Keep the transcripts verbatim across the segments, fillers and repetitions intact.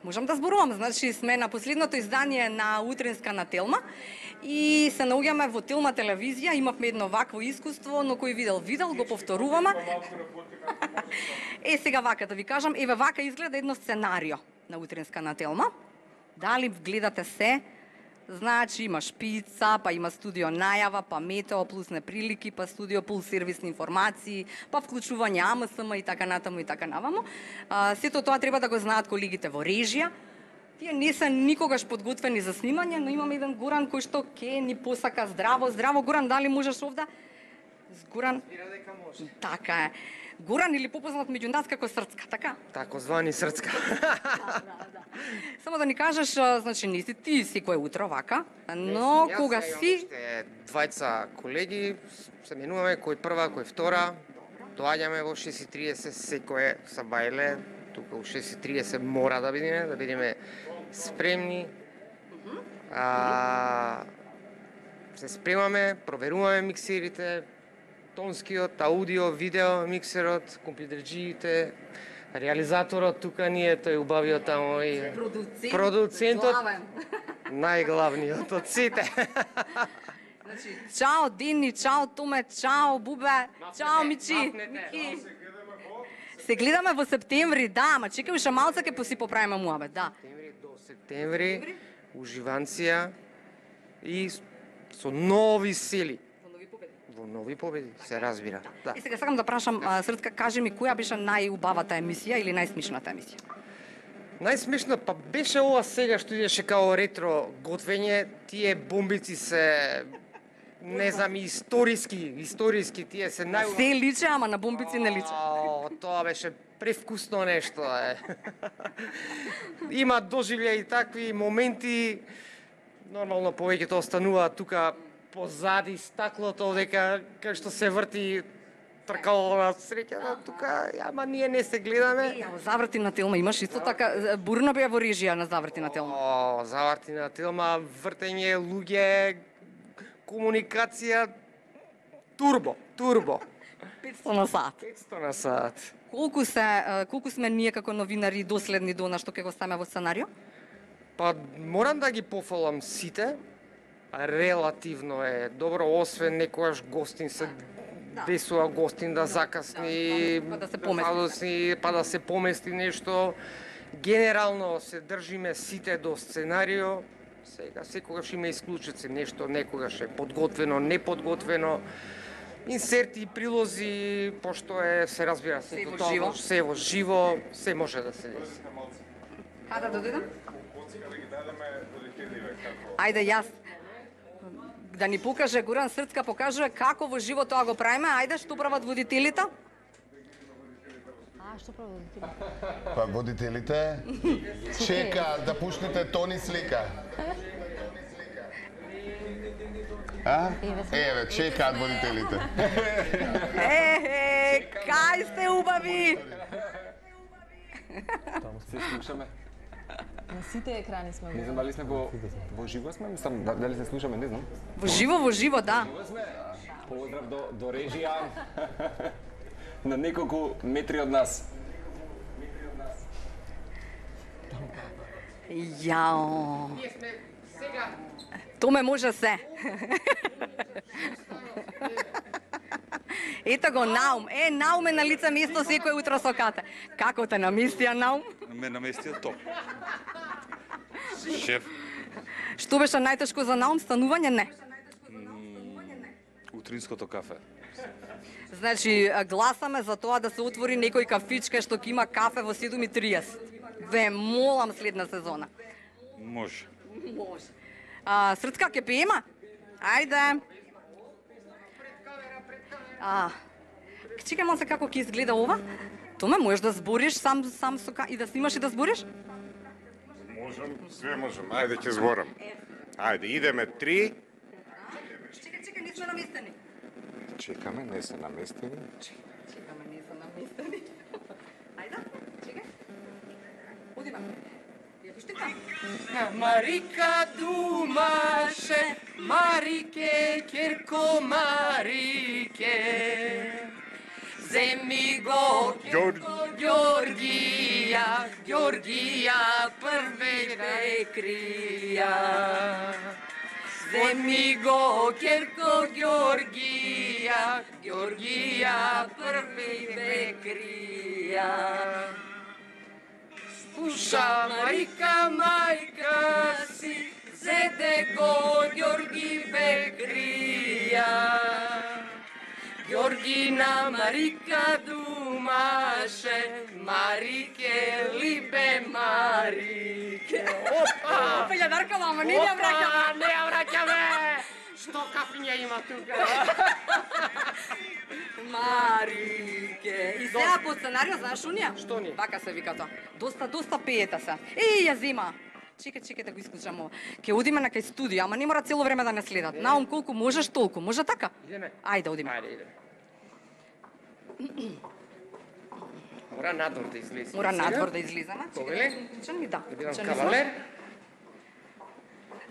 Можам да зборувам, значи сме на последното издание на Утринска на Телма и се наоѓаме во Телма телевизија, имавме едно вакво искуство, но кој видел, видел, го повторуваме. Е, сега вака да ви кажам, еве вака изгледа едно сценарио на Утринска на Телма. Дали гледате се? Значи има шпица, па има студио најава, па метео плюс неприлики, па студио плюс сервисни информации, па вклучување А М С М и така натаму и така наваму. А, сето тоа треба да го знаат колегите во режија. Тие не се никогаш подготвени за снимање, но имаме еден Горан кој што ке ни посака здраво, здраво. Горан, дали можеш овде? Горан? Така е. Горан или попознат меѓу нас како Срцка, така? Тако звани Срцка. Да, да, да. Само да ни кажеш, значи не си ти секое утро вака, но Јас кога имам си... уште двајца колеги, се менуваме кој прва, кој втора. Доаѓаме во шест и триесет секое са бајле. Тука у шест и триесет мора да бидеме, да бидеме спремни. А, се спремаме, проверуваме миксерите, тонскиот, аудио, видео, миксерот, компјутерџиите, реализаторот тука ни е, тој убавиот таму и Продуцент, продуцентот, главен. најглавниот од сите. Значи, чао Дени, чао Томе, чао Бубе, чао Мичи. Мики. Се гледаме во септември, да, ама чекај уште малце ке си поправиме муабет, да. Септември до септември, уживанција и со нови сили. Во нови победи, се разбира. Да. И сега сакам да прашам, а, Срцка, кажи ми, која беше најубавата емисија или најсмишната емисија? Најсмешно па беше ова сега што идеше као ретро готвење, тие бомбици се не знам, историски, историски тие се нај... Се личе, ама на бомбици не личе. О, тоа беше превкусно нешто е. Има доживљаи и такви моменти. Нормално повеќето остануваат тука позади стаклото, дека кај што се врти тркало на среќа, тука, ама ние не се гледаме. Е, во Заврти на Телма имаш исто така, бурна беа во режија на Заврти на Телма. О, Заврти на Телма, вртење, луѓе, комуникација, турбо, турбо. петсто на сат. петсто на сат. Колку се, колку сме ние како новинари доследни до она што ќе го ставиме во сценарио? Па морам да ги пофалам сите. Релативно е добро, освен некојаш гостин се десува гостин да закасни, па да се помести. помести, па да се помести нешто. Генерално се држиме сите до сценарио. Сега секогаш има исклучици, нешто некогаш е подготвено, неподготвено. Инсерти, прилози, пошто е, се разбира, се, Се во тоа, живо. се во живо, се може да се деси. Каде да дојдем? Ајде јас да ни покаже Горан Срцка, покажува како во живо тоа го правиме. Ајде, што прават водителите? А, што прават водителите? Па водителите чека да пуснете Тони слика. А? Еве, чекаат водителите. Е, е, кај сте убави? Се слушаме. На сите екрани сме. Не знам дали сме во во живо сме, мислам дали се слушаме, не знам. Во живо, во живо, да. Поздрав до до режија. На неколку метри од нас. Јао. Томе може се. Ето го Наум. Е, Наум е на лице место секој утро со кате. Како те наместија, Наум? Ме наместија топ. Шеф, Што беше најтешко за Наум? Станување? Не. утринското кафе. Значи, гласаме за тоа да се отвори некој кафичка што ќе има кафе во седум и триесет. Ве молам следна сезона. Може. Може. А, Срцка, ке пеема? Ајде. А, чекај малце како ќе изгледа ова. Томе, можеш да збориш сам сам со ка... и да снимаш и да збориш? Можам, све можам. Ајде ќе зборам. Ајде, идеме три. Чекај, чекај, не сме наместени. Чекаме, не се наместени. Чекаме, не се наместени. Ајде, чекај. Одиме. Ја вижте како. Марика думаше, Марике, керко Марике. Земи го, Ѓорѓе, Георгија, Георгија, прве крија. Земни го Керко Георгија, Георгија, прве крија. Слуша Марика, мајка си, зеде го Георги Бекрија. Георгина Марика думаше, Марике, либе Марике. Опа! Пелјадарка, мама, не ја враќаме! Не ја враќаме! Што кафиња има тука? Марике. И сега по сценарио, знаеш унија? Што ни? Вака се вика тоа. Доста, доста пеете се. Еј, ја зема. Чекај, чекај да го исклучам ова. Ке одиме на кај студио, ама не мора цело време да не следат. Наум колку можеш толку. Може така? Идеме. Ајде, одиме. Ајде, идеме. Мора надвор да излезе. Мора надвор да излизаме. Повеле? Чекај, ми да. Да бидам Чекај, кавалер.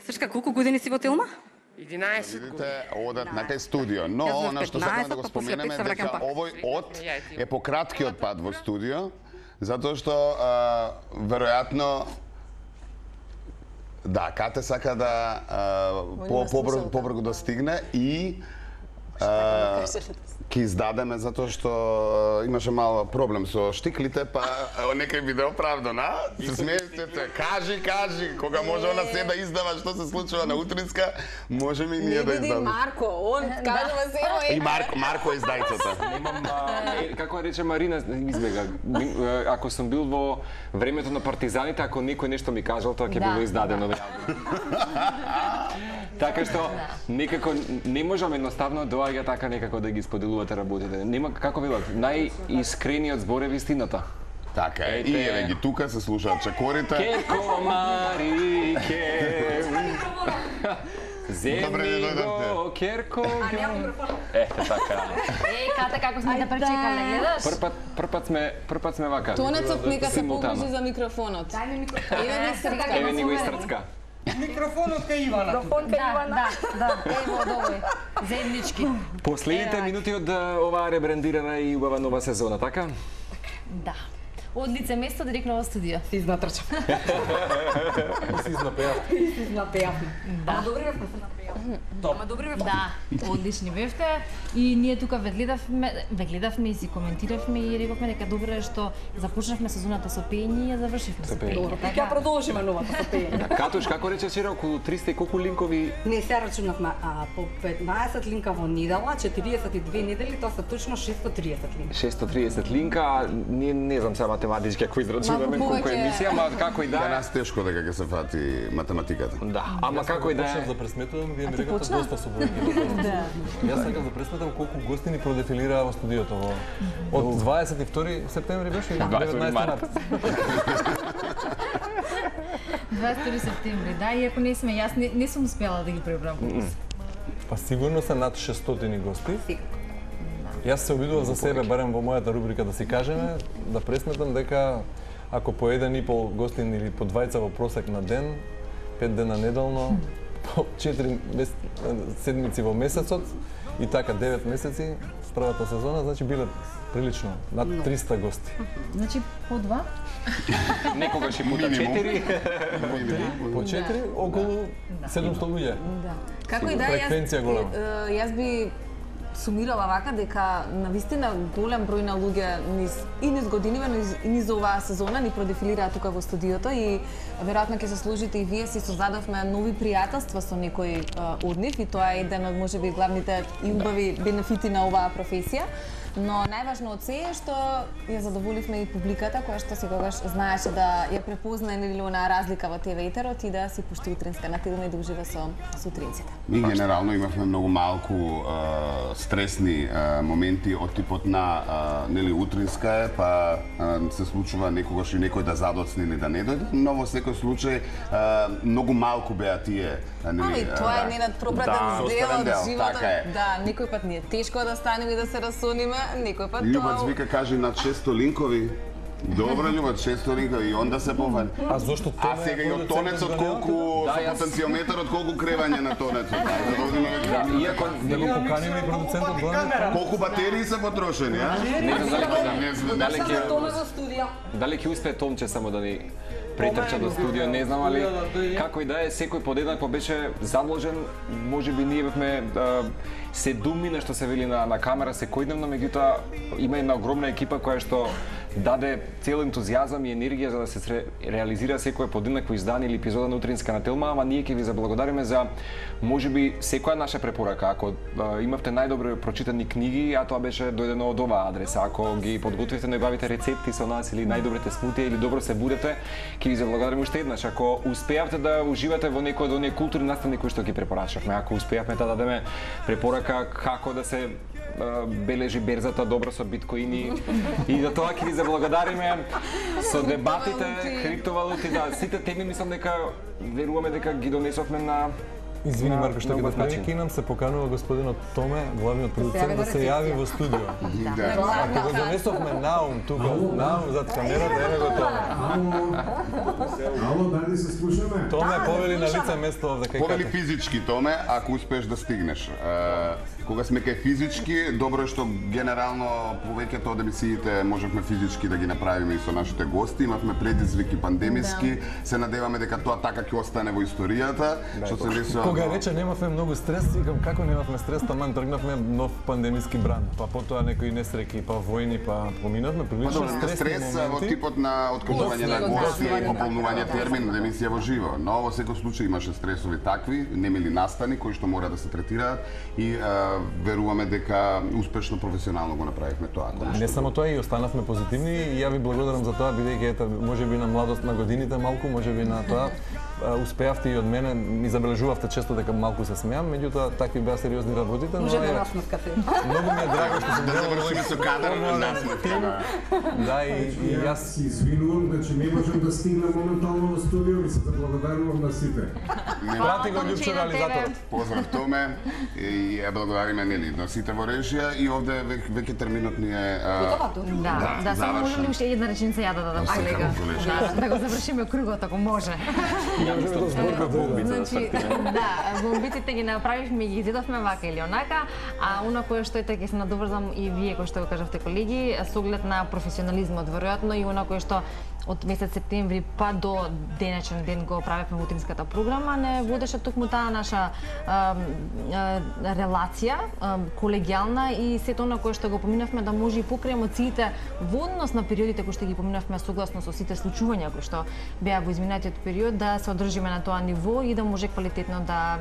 Сршка, колку години си во Телма? единаесет Видите, години. одат на кај студио, но Јас во она што сакаме да го петнаесет, па после споменеме пет се враќам дека пак. овој од Јајте. е пократкиот пат во студио, затоа што а, веројатно да, Кате сака да а, по, побрзо, побрзо да стигне и а, ќе издадеме затоа што а, имаше мал проблем со штиклите, па ево некај биде оправдан, а? Се смеете, кажи, кажи, кога може она се да издава што се случува на утринска, можеме и ние да Види издадеме. Марко, он кажува се И ево Марко, Марко издајцата. Немам, а, е, како да рече Марина, избега. Ми, е, Ако сум бил во времето на партизаните, ако некој нешто ми кажал, тоа ќе Да, било издадено веројатно. Така што некако не можам едноставно доаѓа така некако да ги споделувате работите. Нема како велат, најискрениот збор е вистината. Така е, и Ете. еве ги тука се слушаат чекорите. Керко Марике. Добре, Земни дојдовте. го Керко. Ете така. Еј, Ката, како сме те пречекале, гледаш? Прв пат, прв пат сме, прв пат сме вака. Тонецот нека се Симултано. погрижи за микрофонот. Дај ми микрофон. Еве ми срка. Еве ни го истрцка. Микрофонот кај Ивана. Да, да, да, ево од овој. Земнички. Последните Ева. минути од а, оваа ребрандирана и убава нова сезона, така? Да. Од лице место директно во студио. Си изнатрчам. Си изнапеав. Напеавме. Да. Ама добри бевме се напеавме. Ама добри бевме. Да, одлични бевте и ние тука ве гледавме, ве гледавме и си коментиравме и рековме дека добро е што започнавме сезоната со пење и ја завршивме со пење. пење. Ќе ја продолжиме новата со пење. Катуш, како рече вчера, околу триста и колку линкови? Не се рачунавме, а по петнаесет линка во недела, четириесет и две недели, тоа се точно шестsto триесет линка. шестsto trideset линка, а ние не знам сега математички ако израчунаме Малку колку е повеќе. емисија, ама како и За да е. нас тешко дека ќе се фати математиката. Да, ама како и да Почнав е. да пресметувам, вие ми рекавте почна? доста со бројки. Да. Јас сакам да пресметам колку гости ни продефилираа во студиото во од дваесет и втори септември беше или дваесет деветнаесети март. март. дваесет и втори септември, да, иако не сме, јас не, не сум успела да ги пребрам. Па сигурно се над шестстотини гости. Јас се обидував за себе, барем во мојата рубрика да си кажеме, да пресметам дека ако по еден и пол гостин или по двајца во просек на ден, пет дена неделно, по четири мес... седмици во месецот и така девет месеци првата сезона, значи биле прилично над триста гости. Значи по два? Некогаш и пута Минимум. четири. По четири околу седумсто луѓе. Да. Како и да, Фреквенција јас, голема. е, јас би сумирала вака дека на вистина голем број на луѓе низ и низ годиниве, низ, и низ оваа сезона ни продефилираа тука во студиото и веројатно ќе се сложите и вие си создадовме нови пријателства со некои е, од нив и тоа е еден од можеби главните и убави бенефити на оваа професија. Но најважно од се е што ја задоволивме и публиката која што секогаш знаеше да ја препозна нели онаа разлика во ТВ етерот и да си пушти утринска на Телма и да ужива со со утринците. Ми генерално имавме многу малку а, стресни а, моменти од типот на а, нели утринска е, па а, се случува некогаш и некој да задоцне или да не дојде, но во секој случај а, многу малку беа тие а, нели. Ами, тоа е ненад пропратен да, дел оставен од дел, животот. така е. Да, некој пат ни е тешко да станеме и да се расониме, некој пат Љубац тоа... вика кажи над шестsto линкови. Добро, љубот, шесторинка и онда се пофали. А зошто Томе? А сега и од тонецот колку со потенциометарот колку кревање на тонецот. Да, иако да го поканиме и продуцентот главниот. Колку батерии се потрошени, а? Не знам дали ќе Томе во студио. дали ќе успее Томче само да ни претрча до студио, не знам, али како и да е, секој подеднакво беше задолжен, можеби ние бевме се думи на што се вели на, на камера секојдневно, меѓутоа има една огромна екипа која што даде цел ентузијазам и енергија за да се реализира секое подеднакво издание или епизода на Утринска на Телма, ама ние ќе ви заблагодариме за можеби секоја наша препорака. Ако а, имавте најдобро прочитани книги, а тоа беше дојдено од оваа адреса, ако ги подготвите, најбавите рецепти со нас или најдобрите смутија или добро се будете, ќе ви заблагодариме уште еднаш. Ако успеавте да уживате во некој од оние културни наставни кои што ги препорачавме, ако успеавме да дадеме препорака како да се бележи берзата добро со биткоини и за тоа ќе ви заблагодариме со дебатите, криптовалути, да, сите теми мислам дека веруваме дека ги донесовме на Извини, Марко, што ќе прекинам, нам се поканува господинот Томе, главниот продуцент, да се јави во студио. Ако го донесовме наум тука, наум зад камерата, еве го Томе. Ало, дали се слушаме? Томе, повели на лице место овде кај Повели физички, Томе, ако успееш да стигнеш. Кога сме кај физички, добро е што генерално повеќето од емисиите можевме физички да ги направиме и со нашите гости. Имавме предизвики пандемиски, се надеваме дека тоа така ќе остане во историјата, што се десува. Кога рече немавме многу стрес, викам како немавме стрес, таман тргнавме нов пандемиски бран, па потоа некои несреќи, па војни, па поминавме прилично стресни стрес во моменти. типот на откажување на гости и пополнување термин на емисија во живо. Но во секој случај имаше стресови такви, немили настани кои што мора да се третираат и а, веруваме дека успешно професионално го направивме тоа. Да, не само тоа, и останавме позитивни и ја ви благодарам за тоа, бидејќи ета можеби на младост на годините малку, можеби на тоа успеавте и од мене, ми забележувавте често дека малку се смеам, меѓутоа такви беа сериозни работите, но Може да насмев кафе. Многу ми е драго што сум да завршиме со кадар на насмевка. Да, и, и јас си извинувам, значи не можам да стигнам моментално во студио и се заблагодарувам на сите. прати го Љупчо реализаторот. Поздрав Томе и ја благодариме нели на сите во режија и овде веќе терминот ни е Да, да, само можам ли уште една реченица ја да дадам сега. Да, да го завршиме кругот ако може. Значи, да, бомбиците ги направивме и ги изедовме вака или онака, а она кое што ете ќе се надоврзам и вие кои што го кажавте колеги, со оглед на професионализмот веројатно и она кое што од месец септември па до денечен ден го правевме во утринската програма, не водеше токму таа наша а, а, релација, а, колегијална и сето она кое што го поминавме да може и покрај емоциите во однос на периодите кои што ги поминавме согласно со сите случувања кои што беа во изминатиот период, да се одржиме на тоа ниво и да може квалитетно да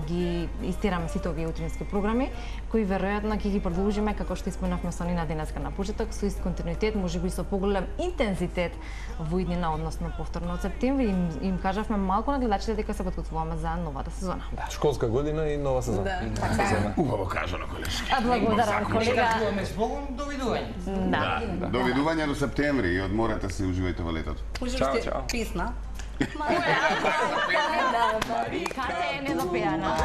ги истераме сите овие утрински програми, кои веројатно ќе ги продолжиме како што исполнавме со Нина денеска на почеток, со ист континуитет, можеби со поголем интензитет во иднина, односно повторно од септември. Им, им кажавме малку на гледачите дека се подготвуваме за новата сезона. Да, школска година и нова сезона. Да, така. Убаво кажано, колешки. А благодарам, колега. Довидување. Да. Довидување до септември и одморете се, уживајте во летото. Чао, чао. Песна. Марика, не допеана.